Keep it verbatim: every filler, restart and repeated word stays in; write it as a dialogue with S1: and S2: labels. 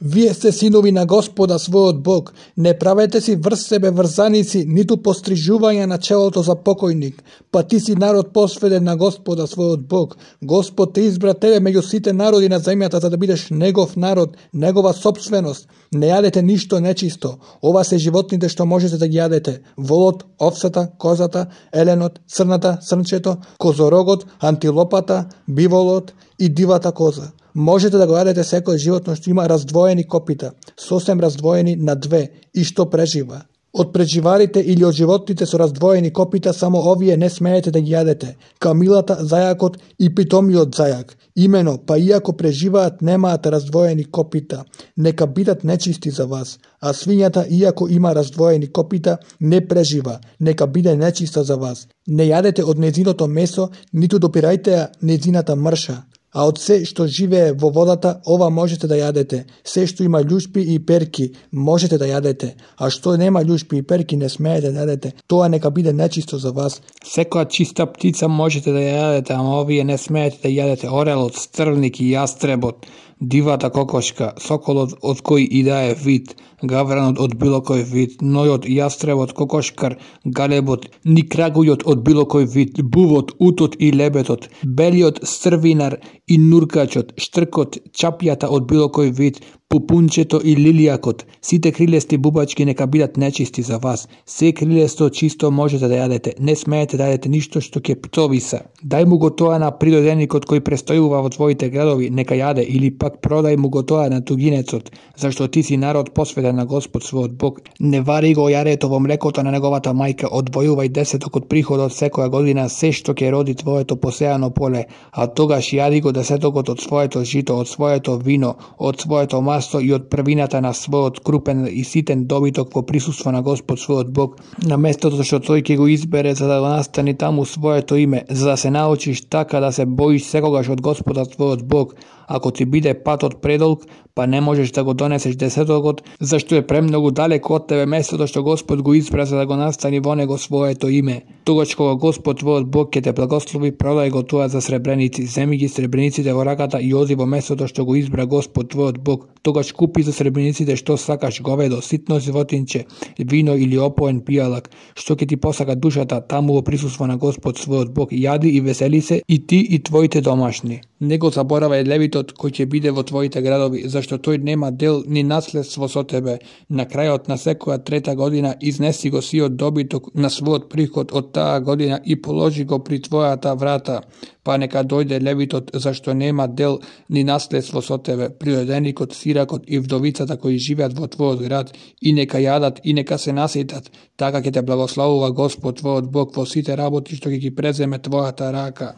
S1: Вие сте синови на Господа својот Бог. Не правете си врз себе врзаници, ниту пострижување на челото за покојник, па ти си народ посветен на Господа својот Бог. Господ те избра тебе меѓу сите народи на земјата за да бидеш негов народ, негова сопственост. Не јадете ништо нечисто. Ова се животните што можете да ги јадете: волот, овцата, козата, еленот, црната, срнчето, козорогот, антилопата, биволот и дивата коза. Можете да го јадете секој животно што има раздвоени копита, сосем раздвоени на две и што прежива. Од преживарите или од животните со раздвоени копита само овие не смеете да ги јадете: камилата, зајакот и питомиот зајак. Имено, па иако преживаат, немаат раздвоени копита, нека бидат нечисти за вас. А свињата, иако има раздвоени копита, не прежива, нека биде нечиста за вас. Не јадете од незиното месо, ниту допирајте ја незината мрша. А од се што живее во водата, ова можете да јадете. Се што има љушпи и перки, можете да јадете. А што нема љушпи и перки, не смеете да јадете. Тоа нека биде нечисто за вас. Секоја чиста птица можете да ја јадете, ама овие не смеете да јадете: орелот, стрвник и јастребот, дивата кокошка, соколот од кој и да е вид, гавранот од било кој вид, нојот, јастребот, кокошкар, галебот, ни крагујот од било кој вид, бувот, утот и лебетот, белиот стрвинар и нуркачот, штркот, чапјата од било кој вид, пупунчето и лилијакот. Сите крилести бубачки нека бидат нечисти за вас. Се крилесто чисто можете да јадете. Не смеете да јадете ништо што ќе птовиса. Дај му го тоа на природеникот кој престојува во твоите градови, нека јаде, или пак продај му го тоа на тугинецот, зашто ти си народ посветен на Господ својот Бог. Не вари го јарето во млекото на неговата мајка, одвојувај десеток од приходот секоја година, се што ќе роди твоето посејано поле, а тогаш јади го десетокот од своето жито, од своето вино, од своето масто и од првината на својот крупен и ситен добиток во присуство на Господ својот Бог, на местото што тој ќе го избере за да го настани таму своето име, за да се научиш така да се боиш секогаш од Господа твојот Бог. Ако ти биде патот предолг, па не можеш да го донесеш десетокот, зашто е премногу далеко од тебе местото што Господ го избра за да го настани во него своето име. Тогаш кога Господ твојот Бог ќе те благослови, продај го тоа за сребреници, земи ги сребрениците во раката и оди во местото што го избра Господ твојот Бог. Тогаш купи за сребрениците што сакаш: говедо, ситно животинче, вино или опоен пијалак, што ќе ти посака душата, таму во присуство на Господ својот Бог. Јади и весели се и ти и твоите домашни. Не го заборавај левитот кој ќе биде во твоите градови, зашто тој нема дел ни наследство со тебе. На крајот на секоја трета година изнеси го сиот добиток на својот приход од таа година и положи го при твојата врата. Па нека дојде левитот, зашто нема дел ни наследство со тебе, природеникот, сиракот и вдовицата кои живеат во твојот град, и нека јадат и нека се наситат. Така ќе те благословува Господ твојот Бог во сите работи што ќе ги преземе твојата рака.